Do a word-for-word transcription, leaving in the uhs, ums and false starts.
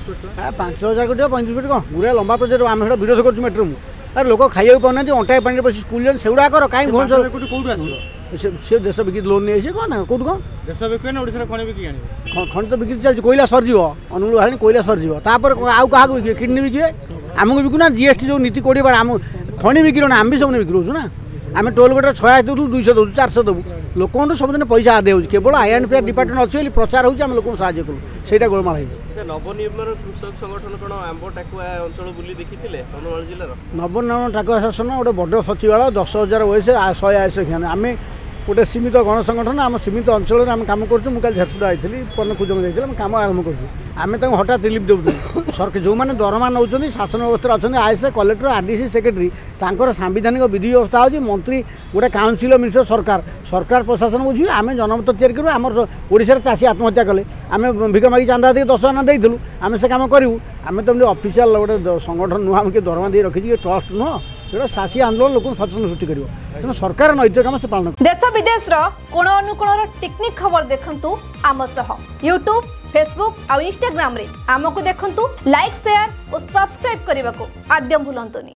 କୋଟି ଟଙ୍କା ପାଞ୍ଚ ହଜାର କୋଟି ପଇଁତିରିଶ କୋଟି କ'ଣ ଗୁଡ଼ାଏ ଲମ୍ବା ପ୍ରୋଜେକ୍ଟ ଆମେ ସେଟା ବିରୋଧ କରୁଛୁ ମେଟ୍ରୋ ଆରେ ଲୋକ ଖାଇବାକୁ ପାଉନାହାନ୍ତି ଅଣ୍ଟାଏ ପାଣିରେ ବସି ସ୍କୁଲ ଯାଉଛନ୍ତି ସେଗୁଡ଼ା କର କାହିଁ ଭୁବନେଶ୍ୱର କୋଟି କୋଉଠୁ ଆସିବ ସେ ସେ ଦେଶ ବିକି ଲୋନ୍ ନେଇ ଆସିବେ କ'ଣ ନା କୋଉଠୁ କ'ଣ ଦେଶ ବିକିବେ ନା ଓଡ଼ିଶାର ଖଣି ବିକି ଆଣିବେ ଖଣି ତ ବିକ୍ରି ଚାଲିଛି କୋଇଲା ସରିଯିବ ଅନୁଗୁଳ ବାହାରିଣି କୋଇଲା ସରିଯିବ ତାପରେ ଆଉ କାହାକୁ ବିକିବେ କିଡ଼ନୀ ବିକିବେ ଆମକୁ ବିକୁନା ଜିଏସ୍ଟି ଯେଉଁ ନୀତି କୋଡ଼ିଏ ବାର ଆମ ଖଣି ବିକିଲୁଣି ଆମେ ବି ସବୁ ବିକ୍ରି ହେଉଛୁ ନା ଆମେ ଟୋଲ୍ ଗେଟ୍ରେ ଛୟାଅଶୀ ଦେଉଥିଲୁ ଦୁଇଶହ ଦେଉଛୁ ଚାରିଶହ ଦେବୁ ଲୋକଙ୍କଠୁ ସବୁଦିନ ପଇସା ଆଦାୟ ହେଉଛି କେବଳ I and P R department ଅଛି ବୋଲି ପ୍ରଚାର ହେଉଛି ଆମେ ଲୋକଙ୍କୁ ସାହାଯ୍ୟ କଲୁ ସେଇଟା ଗୋଳମାଳ ହେଇଛି ନବନିର୍ମାଣ କୃଷକ ସଂଗଠନ କ'ଣ ଆମ୍ବ ଟାକୁଆ ଅଞ୍ଚଳ ବୁଲି ଦେଖିଥିଲେ କନ୍ଧମାଳ ଜିଲ୍ଲାର ନବନିର୍ମାଣ ଟାକୁଆ ଶାସନ ଗୋଟେ ବଡ଼ ସଚିବାଳୟ ଦଶ ହଜାର ବୟସ ଶହେ ଆଶୀ ଆମେ ଗୋଟେ ସୀମିତ ଗଣ ସଂଗଠନ ଆମ ସୀମିତ ଅଞ୍ଚଳରେ ଆମେ କାମ କରୁଛୁ ମୁଁ କାଲି ଝାରସୁଗୁଡ଼ା ଯାଇଥିଲି ପନ୍ନ କୁଜଙ୍ଗ ଯାଇଥିଲି ଆମେ କାମ ଆରମ୍ଭ କରୁଛୁ ଆମେ ତାଙ୍କୁ ହଠାତ୍ ରିଲିଫ୍ ଦେଉଛୁ ସରକାର ଯେଉଁମାନେ ଦରମା ନେଉଛନ୍ତି ଶାସନ ବ୍ୟବସ୍ଥାରେ ଅଛନ୍ତି is collector R D C secretary ତାଙ୍କର ସାମ୍ବିଧାନିକ ବିଧି ବ୍ୟବସ୍ଥା ହେଉଛି ମନ୍ତ୍ରୀ ଗୋଟେ କାଉନସିଲ୍ ଅଫ୍ ମିନିଷ୍ଟର ସରକାର ସରକାର ପ୍ରଶାସନ ବୁଝିବେ ଆମେ ଜନମତ ତିଆରି କରିବୁ ଆମର ଓଡ଼ିଶାରେ ଚାଷୀ ଆତ୍ମହତ୍ୟା କଲେ ଆମେ ଭିକ ମାଗି ଚାନ୍ଦା ଦେଇକି ଦଶ ଆନା ଦେଇଥିଲୁ ଆମେ ସେ କାମ କରିବୁ ଆମେ ତ ଏମିତି ଅଫିସିଆଲ ଗୋଟେ ସଂଗଠନ ନୁହଁ ଆମେ କିଏ ଦରମା ଦେଇ ରଖିଛି କି ଟ୍ରଷ୍ଟ ନୁହଁ ସେଟା ଚାଷୀ ଆନ୍ଦୋଳନ ଲୋକଙ୍କୁ ସଚେତନ ସୃଷ୍ଟି କରିବ ତେଣୁ ସରକାର ନୈତିକ କାମ ସେ ପାଳନ ଦେଶ ବିଦେଶର କୋଣ ଅନୁକୋଣର ଟିକିନିଖି ଖବର ଦେଖନ୍ତୁ ଆମ ସହ ୟୁଟ୍ୟୁବ୍ ଫେସବୁକ୍ ଆଉ ଇନଷ୍ଟାଗ୍ରାମରେ ଆମକୁ ଦେଖନ୍ତୁ ଲାଇକ୍ ସେୟାର ଓ ସବସ୍କ୍ରାଇବ୍ କରିବାକୁ ଆଦୌ ଭୁଲନ୍ତୁନି।